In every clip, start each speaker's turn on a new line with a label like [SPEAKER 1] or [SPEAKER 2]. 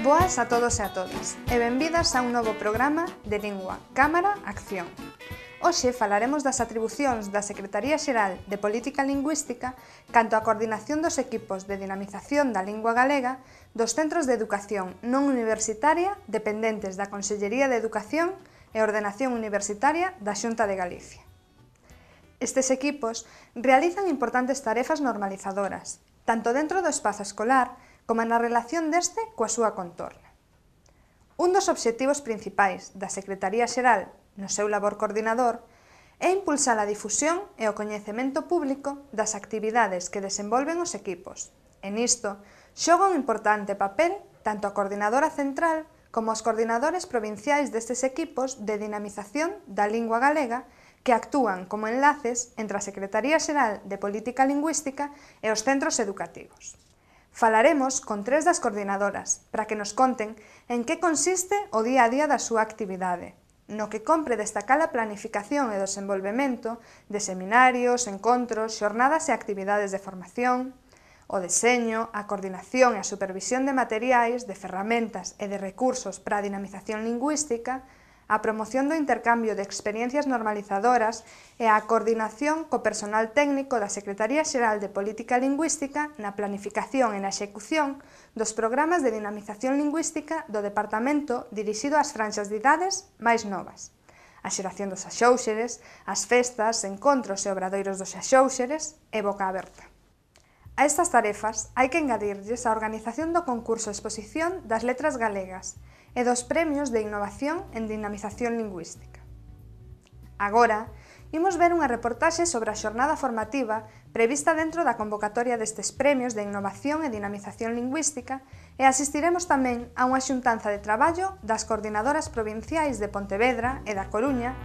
[SPEAKER 1] Boas a todos e a todas, e benvidas a un novo programa de Lingua, Cámara, Acción. Hoxe falaremos das atribucións da Secretaría Xeral de Política Lingüística canto á coordinación dos equipos de dinamización da lingua galega dos centros de educación non universitaria dependentes da Consellería de Educación e Ordenación Universitaria da Xunta de Galicia. Estes equipos realizan importantes tarefas normalizadoras, tanto dentro do espazo escolar como na relación deste coa súa contorna. Un dos obxectivos principais da Secretaría Xeral no seu labor coordinador é impulsar a difusión e o coñecemento público das actividades que desenvolven os equipos, e nisto xoga un importante papel tanto a coordinadora central como os coordinadores provinciais destes equipos de dinamización da lingua galega que actúan como enlaces entre a Secretaría Xeral de Política Lingüística e os centros educativos. Falaremos con tres das coordinadoras para que nos conten en que consiste o día a día da súa actividade, no que compre destacar a planificación e desenvolvemento de seminarios, encontros, xornadas e actividades de formación, o deseño, a coordinación e a supervisión de materiais, de ferramentas e de recursos para a dinamización lingüística, a promoción do intercambio de experiencias normalizadoras e a coordinación co personal técnico da Secretaría Xeral de Política Lingüística na planificación e na execución dos programas de dinamización lingüística do Departamento dirixido ás franxas de idades máis novas, a xeración dos axóuxeres, as festas, encontros e obradoiros dos axóuxeres e boca aberta. A estas tarefas hai que engadirlles a organización do concurso de exposición das letras galegas e dos premios de innovación en dinamización lingüística. Agora, imos ver unha reportaxe sobre a xornada formativa prevista dentro da convocatoria destes premios de innovación e dinamización lingüística e asistiremos tamén a unha xuntanza de traballo das coordinadoras provinciais de Pontevedra e da Coruña,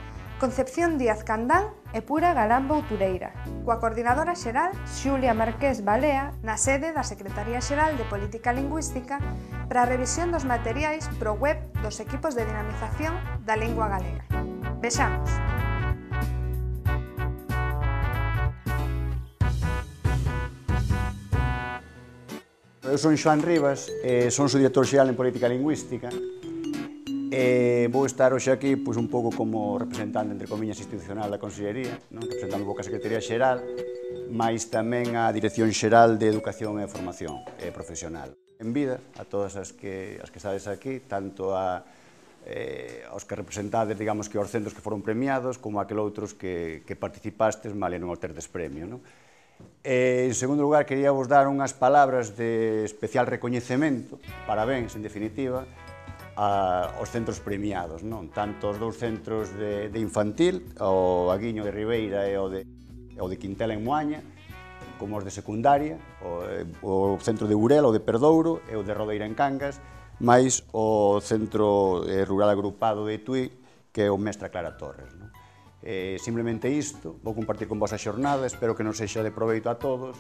[SPEAKER 1] Concepción Díaz Candán e Pura Galán Boutureira, coa coordinadora xeral Xulia Marqués Balea na sede da Secretaría Xeral de Política Lingüística para a revisión dos materiais pro web dos equipos de dinamización da lingua galega. Vexamos!
[SPEAKER 2] Eu son Xoán Rivas, son subdirector xeral en Política Lingüística e vou estar hoxe aquí un pouco como representante, entre comillas, institucional da Consellería, representando un pouco a Secretaría Xeral, mais tamén a Dirección Xeral de Educación e Formación Profesional. En vida a todas as que estades aquí, tanto aos que representades, digamos, que aos centros que foron premiados, como aquel outros que participastes, malia non obterdes premio. En segundo lugar, quería vos dar unhas palabras de especial recoñecemento, parabéns, en definitiva, aos centros premiados, tanto os dous centros de infantil, o Aguiño de Ribeira e o de Quintela en Moaña, como os de secundaria, o centro de Burela, o de Perdouro e o de Rodeira en Cangas, máis o centro rural agrupado de Tui, que é o Mestra Clara Torres. Simplemente isto, vou compartir con vos a xornada, espero que nos sexa de proveito a todos.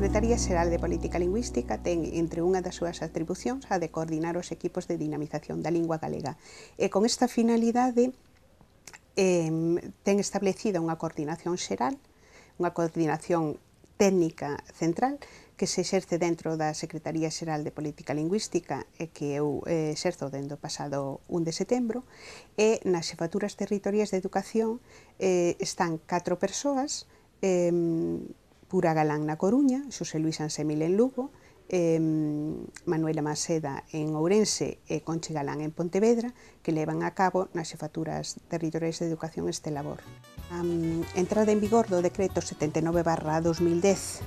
[SPEAKER 3] Secretaría Xeral de Política Lingüística ten entre unha das súas atribucións a de coordinar os equipos de dinamización da lingua galega. E con esta finalidade ten establecida unha coordinación xeral, unha coordinación técnica central que se exerce dentro da Secretaría Xeral de Política Lingüística e que eu exerzo dende o pasado 1 de setembro, e nas xefaturas territoriais de educación están 4 persoas, Pura Galán na Coruña, Xosé Luís Ansemil en Lugo, Manuela Maseda en Ourense e Conchi Galán en Pontevedra, que levan a cabo nas xefaturas territoriais de educación este labor. A entrada en vigor do decreto 79/2010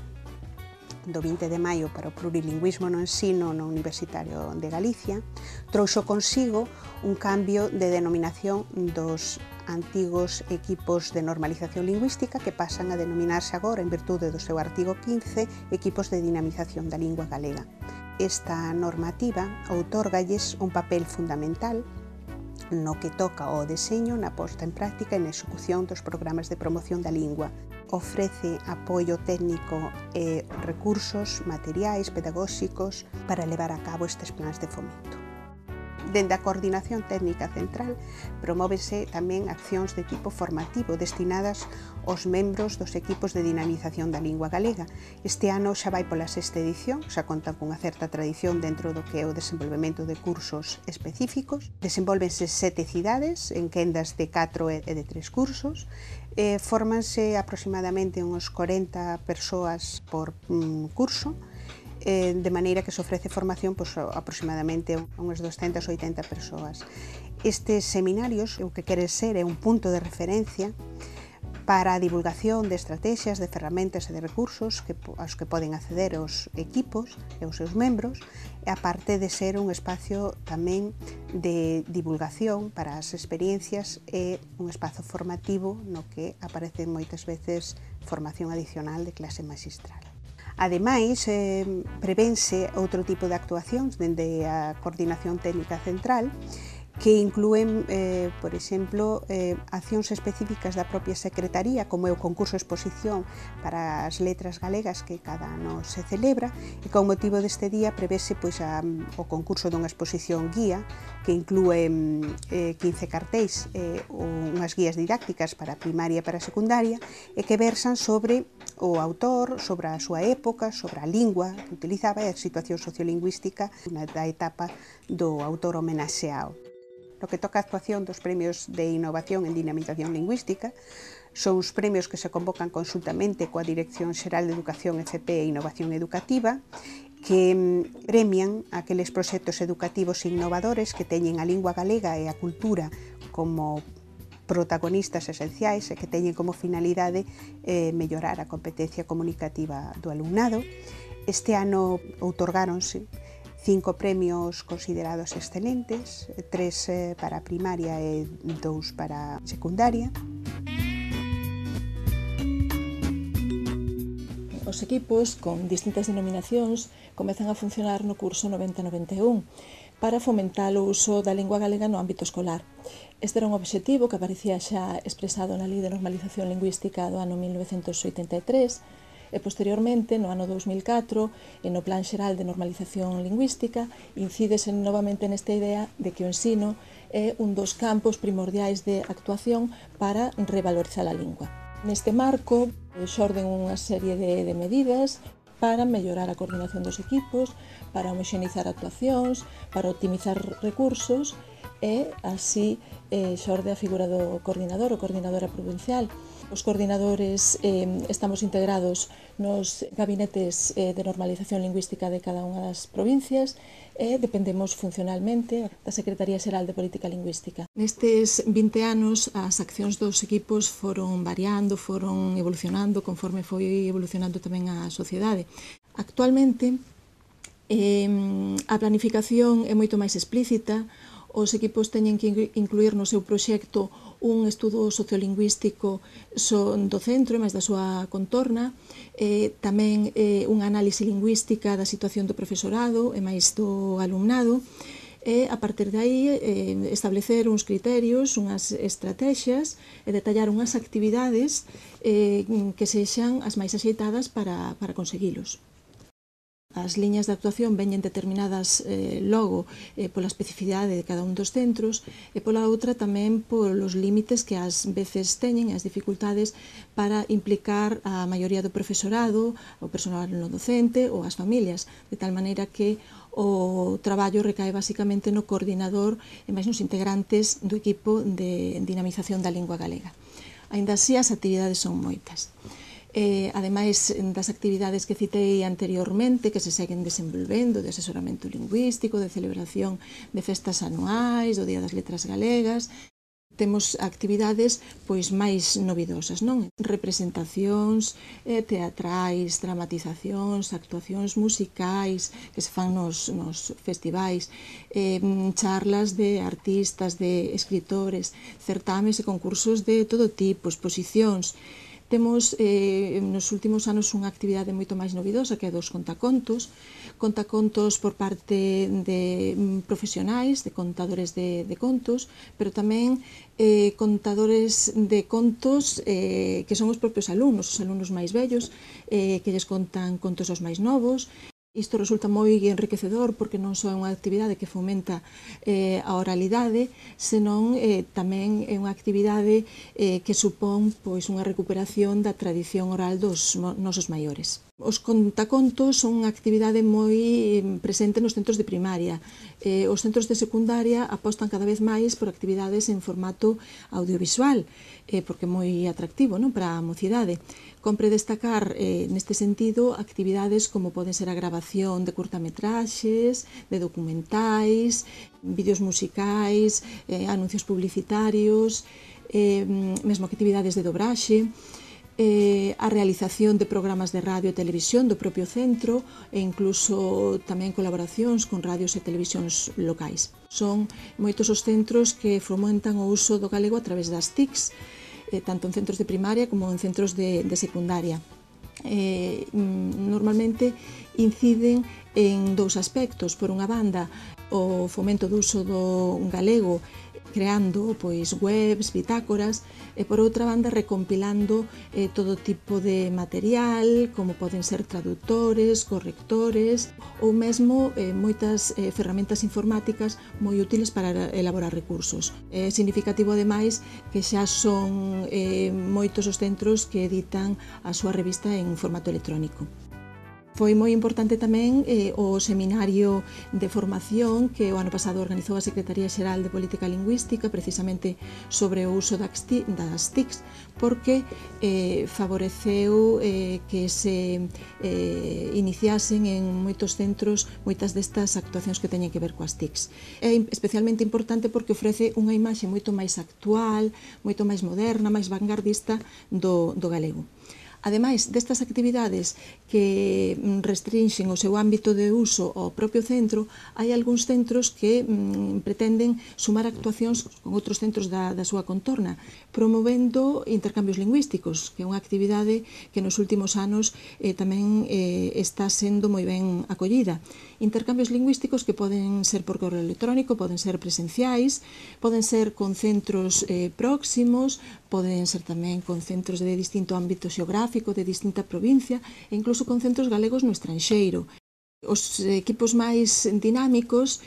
[SPEAKER 3] do 20 de maio para o plurilingüismo no ensino no Universitario de Galicia trouxo consigo un cambio de denominación dos antigos equipos de normalización lingüística que pasan a denominarse agora, en virtude do seu artigo 15, equipos de dinamización da lingua galega. Esta normativa outorgalles un papel fundamental no que toca ao deseño, na posta en práctica e na execución dos programas de promoción da lingua. Ofrece apoio técnico e recursos materiais, pedagóxicos para levar a cabo estes plans de fomento. Dende a Coordinación Técnica Central promóvese tamén accións de tipo formativo destinadas aos membros dos equipos de dinamización da lingua galega. Este ano xa vai pola 6ª edición, xa contan cunha certa tradición dentro do que é o desenvolvemento de cursos específicos. Desenvolvense 7 cidades en quendas de 4 e de 3 cursos. Fórmanse aproximadamente uns 40 persoas por curso, de maneira que se ofrece formación aproximadamente a unhas 280 persoas. Estes seminarios o que queren ser é un punto de referencia para a divulgación de estrategias, de ferramentas e de recursos aos que poden acceder os equipos e os seus membros, e aparte de ser un espacio tamén de divulgación para as experiencias e un espazo formativo no que aparece moitas veces formación adicional de clase magistral. Ademais, prevense outro tipo de actuacións dende a Coordinación Técnica Central que inclúen, por exemplo, accións específicas da propia Secretaría, como é o concurso exposición para as letras galegas que cada ano se celebra, e con motivo deste día prevese o concurso dunha exposición guía que inclúe 15 cartéis, unhas guías didácticas para primaria e para secundaria, e que versan sobre o autor, sobre a súa época, sobre a lingua que utilizaba e a situación sociolingüística da etapa do autor homenaxeado. No que toca a actuación dos premios de innovación en dinamización lingüística, son os premios que se convocan consultamente coa Dirección Xeral de Educación, FP e Innovación Educativa, que premian aqueles proxectos educativos innovadores que teñen a lingua galega e a cultura como protagonistas esenciais e que teñen como finalidade mellorar a competencia comunicativa do alumnado. Este ano outorgáronse 5 premios considerados excelentes, 3 para primaria e 2 para secundaria.
[SPEAKER 4] Os equipos con distintas denominacións comezan a funcionar no curso 90-91 para fomentar o uso da lingua galega no ámbito escolar. Este era un obxectivo que aparecía xa expresado na Lei de Normalización Lingüística do ano 1983, e posteriormente, no ano 2004, e no Plan Xeral de Normalización Lingüística, incídese novamente nesta idea de que o ensino é un dos campos primordiais de actuación para revalorizar a lingua. Neste marco, xorden unha serie de medidas para mellorar a coordinación dos equipos, para homoxeneizar actuacións, para optimizar recursos, e así xorde a figura do coordinador ou coordinadora provincial. Os coordinadores estamos integrados nos gabinetes de normalización lingüística de cada unha das provincias e dependemos funcionalmente da Secretaría Xeral de Política Lingüística. Nestes 20 anos as accións dos equipos foron variando, foron evolucionando conforme foi evolucionando tamén a sociedade. Actualmente a planificación é moito máis explícita. Os equipos teñen que incluir no seu proxecto un estudo sociolingüístico do centro e máis da súa contorna, tamén unha análise lingüística da situación do profesorado e máis do alumnado, e a partir de aí establecer uns criterios, unhas estrategias e detallar unhas actividades que sexan as máis axeitadas para conseguilos. As liñas de actuación veñen determinadas logo pola especificidade de cada un dos centros e pola outra tamén polos límites que ás veces teñen, as dificultades para implicar a maioría do profesorado, o personal no docente ou as familias, de tal maneira que o traballo recae basicamente no coordinador e máis nos integrantes do equipo de dinamización da lingua galega. Aínda así, as actividades son moitas. Ademais das actividades que citei anteriormente, que se seguen desenvolvendo, de asesoramento lingüístico, de celebración de festas anuais, do Día das Letras Galegas, temos actividades pois máis novidosas, non? Representacións teatrais, dramatizacións, actuacións musicais que se fan nos festivais, charlas de artistas, de escritores, certames e concursos de todo tipo, exposicións. Temos nos últimos anos unha actividade moito máis novidosa que é dos contacontos por parte de profesionais, de contadores de contos, pero tamén contadores de contos que son os propios alumnos, os alumnos máis vellos, que lles contan contos aos máis novos. Isto resulta moi enriquecedor porque non só é unha actividade que fomenta a oralidade, senón tamén é unha actividade que supón pois unha recuperación da tradición oral dos nosos maiores. Os contacontos son unha actividade moi presente nos centros de primaria. Os centros de secundaria apostan cada vez máis por actividades en formato audiovisual, porque é moi atractivo, non, para a mocidade. Compre destacar neste sentido actividades como poden ser a grabación de curtametraxes, de documentais, vídeos musicais, anuncios publicitarios, mesmo actividades de dobraxe, a realización de programas de radio e televisión do propio centro e incluso tamén colaboracións con radios e televisións locais. Son moitos os centros que fomentan o uso do galego a través das TICs, tanto en centros de primaria como en centros de secundaria. Normalmente inciden en dous aspectos. Por unha banda, o fomento do uso do galego creando pois webs, bitácoras, e por outra banda recompilando todo tipo de material, como poden ser traductores, correctores ou mesmo moitas ferramentas informáticas moi útiles para elaborar recursos. É significativo ademais que xa son moitos os centros que editan a súa revista en formato electrónico. Foi moi importante tamén o seminario de formación que o ano pasado organizou a Secretaría Xeral de Política Lingüística precisamente sobre o uso das TICs porque favoreceu que se iniciasen en moitos centros moitas destas actuacións que teñen que ver coas TICs. É especialmente importante porque ofrece unha imaxe moito máis actual, moito máis moderna, máis vanguardista do galego. Ademais destas actividades que restrinxen o seu ámbito de uso ao propio centro, hai algúns centros que pretenden sumar actuacións con outros centros da súa contorna, promovendo intercambios lingüísticos, que é unha actividade que nos últimos anos tamén está sendo moi ben acollida. Intercambios lingüísticos que poden ser por correo electrónico, poden ser presenciais, poden ser con centros próximos, poden ser tamén con centros de distinto ámbito xeográfico, de distinta provincia, e incluso con centros galegos no estranxeiro. Os equipos máis dinámicos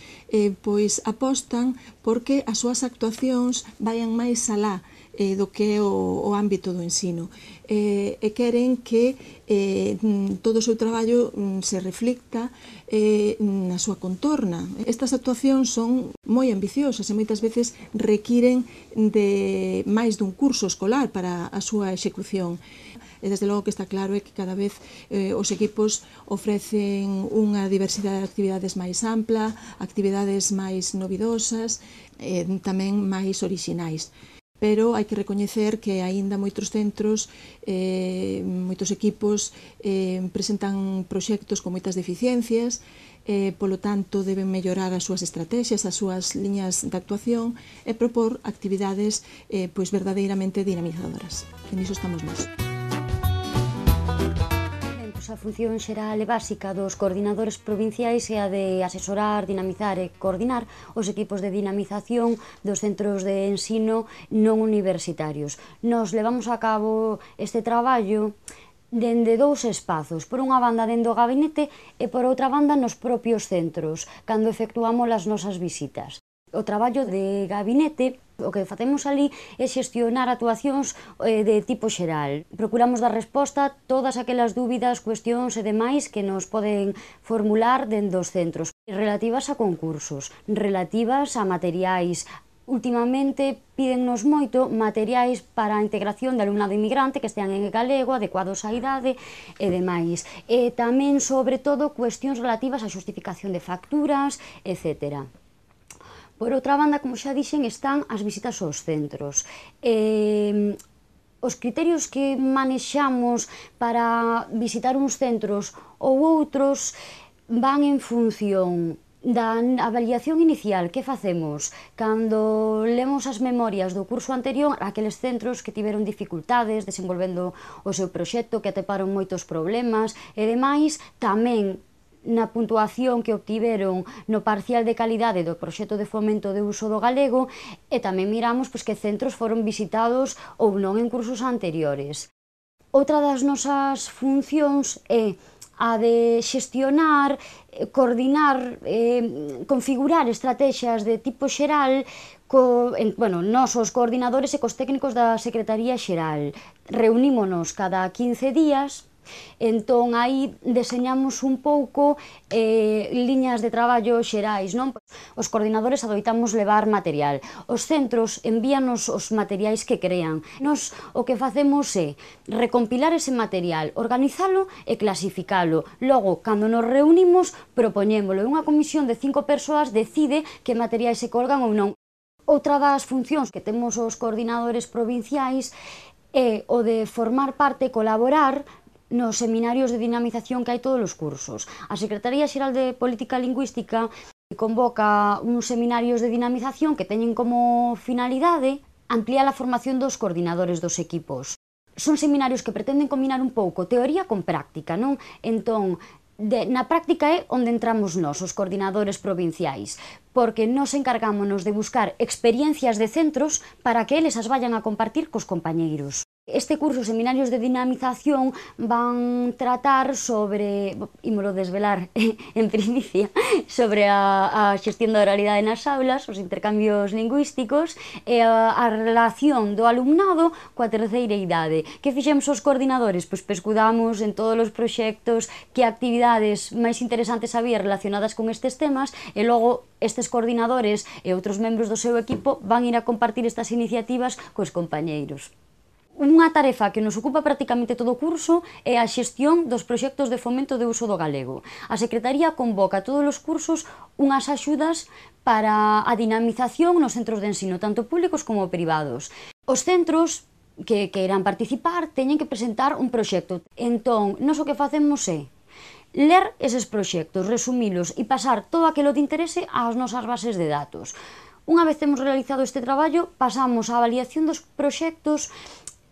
[SPEAKER 4] pois apostan porque as súas actuacións vayan máis alá do que é o ámbito do ensino e queren que todo o seu traballo se reflicta na súa contorna. Estas actuacións son moi ambiciosas e moitas veces requiren de máis dun curso escolar para a súa execución. E desde logo que está claro é que cada vez os equipos ofrecen unha diversidade de actividades máis ampla, actividades máis novidosas e tamén máis orixinais. Pero hai que recoñecer que aínda moitos centros, moitos equipos presentan proxectos con moitas deficiencias, polo tanto deben mellorar as súas estrategias, as súas liñas de actuación e propor actividades pois verdadeiramente dinamizadoras. En iso estamos nós.
[SPEAKER 5] nosa función xeral e básica dos coordinadores provinciais é a de asesorar, dinamizar e coordinar os equipos de dinamización dos centros de ensino non universitarios. Nos levamos a cabo este traballo dende dous espazos, por unha banda dende o gabinete e por outra banda nos propios centros, cando efectuamos as nosas visitas. O traballo de gabinete, o que facemos ali é xestionar actuacións de tipo xeral. Procuramos dar resposta a todas aquelas dúbidas, cuestións e demais que nos poden formular dentro dos centros, relativas a concursos, relativas a materiais. Últimamente pídennos moito materiais para a integración de alumnado inmigrante que estean en galego, adecuados á idade e demais. E tamén, sobre todo, cuestións relativas á xustificación de facturas, etc. Por outra banda, como xa dixen, están as visitas aos centros. Os criterios que manexamos para visitar uns centros ou outros van en función da avaliación inicial que facemos cando lemos as memorias do curso anterior aqueles centros que tiveron dificultades desenvolvendo o seu proxecto, que atoparon moitos problemas e demais, tamén na puntuación que obtiveron no parcial de calidade do proxecto de fomento de uso do galego e tamén miramos que centros foron visitados ou non en cursos anteriores. Outra das nosas funcións é a de xestionar, coordinar, configurar estrategias de tipo xeral nos os coordinadores e cos técnicos da Secretaría Xeral. Reunímonos cada 15 días. Entón, aí deseñamos un pouco liñas de traballo xerais, non? Os coordinadores adoitamos levar material. Os centros envíanos os materiais que crean. Nos o que facemos é recompilar ese material, organizalo e clasificalo. Logo, cando nos reunimos, propoñémolo. Unha comisión de 5 persoas decide que materiais se colgan ou non. Outra das funcións que temos os coordinadores provinciais é o de formar parte e colaborar nos seminarios de dinamización que hai todos os cursos. A Secretaría Xeral de Política Lingüística convoca uns seminarios de dinamización que teñen como finalidade ampliar a formación dos coordinadores dos equipos. Son seminarios que pretenden combinar un pouco teoría con práctica, non? Entón, na práctica é onde entramos nós, os coordinadores provinciais, porque nos encargámonos de buscar experiencias de centros para que eles as vayan a compartir cos compañeiros. Este curso, seminarios de dinamización, van tratar sobre, ímolo desvelar en primicia, sobre a xestión da oralidade nas aulas, os intercambios lingüísticos e a relación do alumnado coa terceira idade. Que fixemos os coordinadores? Pois pescudamos en todos os proxectos que actividades máis interesantes había relacionadas con estes temas e logo estes coordinadores e outros membros do seu equipo van ir a compartir estas iniciativas cos compañeiros. Unha tarefa que nos ocupa prácticamente todo o curso é a xestión dos proxectos de fomento de uso do galego. A Secretaría convoca todos os cursos unhas axudas para a dinamización nos centros de ensino, tanto públicos como privados. Os centros que queiran participar teñen que presentar un proxecto. Entón, nós o que facemos é ler eses proxectos, resumilos e pasar todo aquilo de interese ás nosas bases de datos. Unha vez temos realizado este traballo, pasamos á avaliación dos proxectos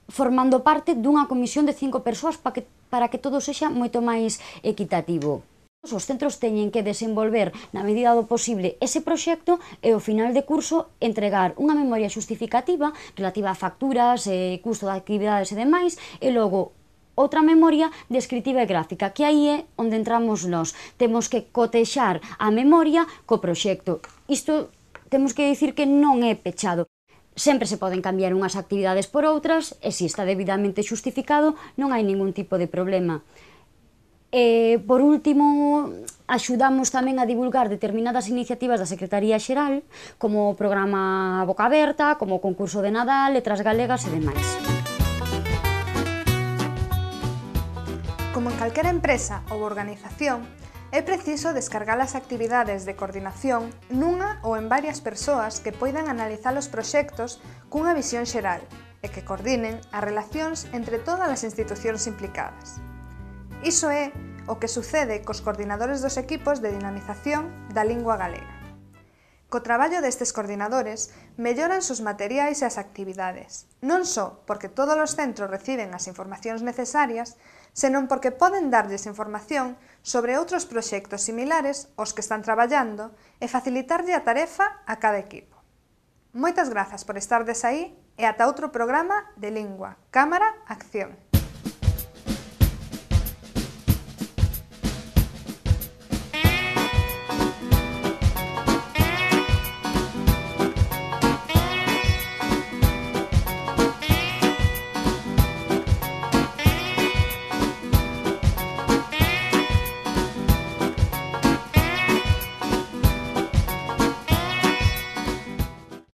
[SPEAKER 5] formando parte dunha comisión de 5 persoas para que todo sexa moito máis equitativo. Os centros teñen que desenvolver, na medida do posible, ese proxecto e ao final de curso entregar unha memoria xustificativa relativa a facturas, custo de actividades e demais, e logo outra memoria descritiva e gráfica, que aí é onde entramos nós. Temos que cotexar a memoria co proxecto. Isto temos que dicir que non é pechado. Sempre se poden cambiar unhas actividades por outras e se está debidamente xustificado non hai ningún tipo de problema. Por último, axudamos tamén a divulgar determinadas iniciativas da Secretaría Xeral, como o programa Boca Aberta, como o concurso de Nadal, letras galegas e demais.
[SPEAKER 1] Como en calquera empresa ou organización, é preciso descargar as actividades de coordinación nunha ou en varias persoas que poidan analizar os proxectos cunha visión xeral e que coordinen as relacións entre todas as institucións implicadas. Iso é o que sucede cos coordinadores dos equipos de dinamización da lingua galega. Co traballo destes coordinadores, melloran os materiais e as actividades, non só porque todos os centros reciben as informacións necesarias, senón porque poden darlles información sobre outros proxectos similares aos que están traballando e facilitarlle a tarefa a cada equipo. Moitas grazas por estardes aí e ata outro programa de Lingua, Cámara, Acción.